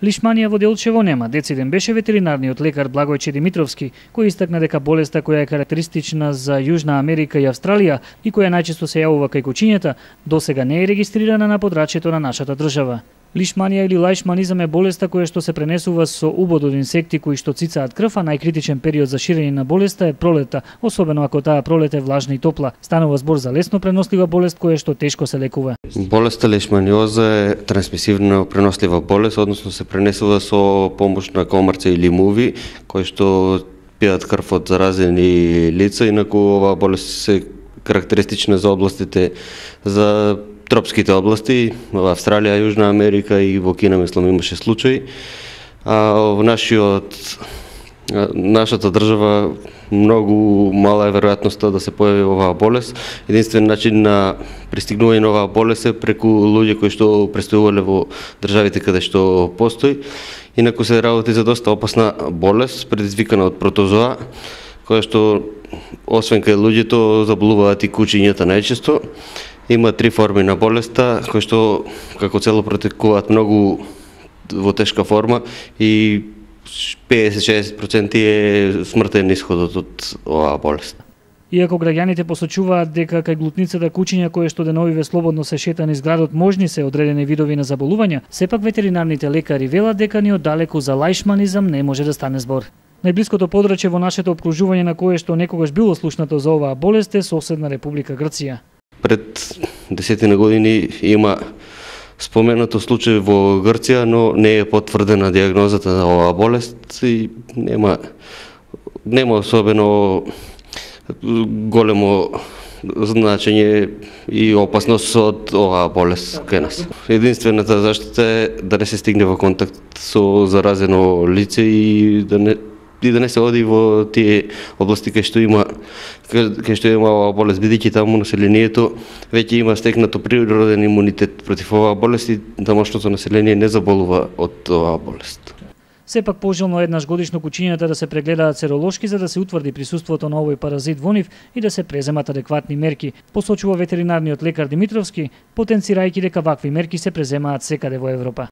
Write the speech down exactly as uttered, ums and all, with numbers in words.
Лишманија во Делчево нема. Дециден беше ветеринарниот лекар Благојче Димитровски, кој истакна дека болеста која е карактеристична за Јужна Америка и Австралија и која најчесто се јавува кај кучињата, досега не е регистрирана на подрачјето на нашата држава. Лишманија или лајшманизам е болеста која што се пренесува со убод од инсекти кои што цицаат крв, а најкритичен период за ширење на болеста е пролетта, особено ако таа пролет е влажна и топла. Станува збор за лесно пренослива болест која што тешко се лекува. Болеста лишманиоза е трансмисивна пренослива болест, односно се пренесува со помош на комарци или муви, кои што пијат крв од заразени лица, инаку оваа болест се карактеристична за областите за тропските области, во Австралија, Јужна Америка и во Кина, мислам, имаше случаи. А во нашиот нашата држава многу мала е веројатноста да се појави оваа болест. Единствен начин на пристигнување на оваа болест е преку луѓе кои што престојувале во државите каде што постои. Инаку се работи за доста опасна болест, предизвикана од протозоа, која што освен кај луѓето заболуваат и кучињата најчесто. Има три форми на болеста, кои што како цело протекуваат многу во тешка форма и педесет до шеесет проценти е смртен исходот од оваа болест. Иако граѓаните посочуваат дека кај глутницата кучиња кои што деновиве слободно се шета низ градот можни се одредени видови на заболувања, сепак ветеринарните лекари велат дека ни оддалеку за лајшманизам не може да стане збор. Најблиското подрачје во нашето опкружување на кое што некогаш било слушнато за оваа болест е соседна Република Грција. Пред десетина години има споменато случај во Грција, но не е потврдена дијагнозата на оваа болест и нема нема особено големо значење и опасност од оваа болест кај нас. Единствената заштита е да не се стигне во контакт со заразено лице и да не и да не се оди во тие области кај што има кај што има оваа болест, бидејќи таму населението веќе има стекнато природен имунитет против оваа болест и тамошното население не заболува од оваа болест. Сепак пожелно еднаш годишно кучињата да се прегледаат серолошки за да се утврди присуството на овој паразит во нив и да се преземат адекватни мерки, посочува ветеринарниот лекар Димитровски, потенцирајќи дека вакви мерки се преземаат секаде во Европа.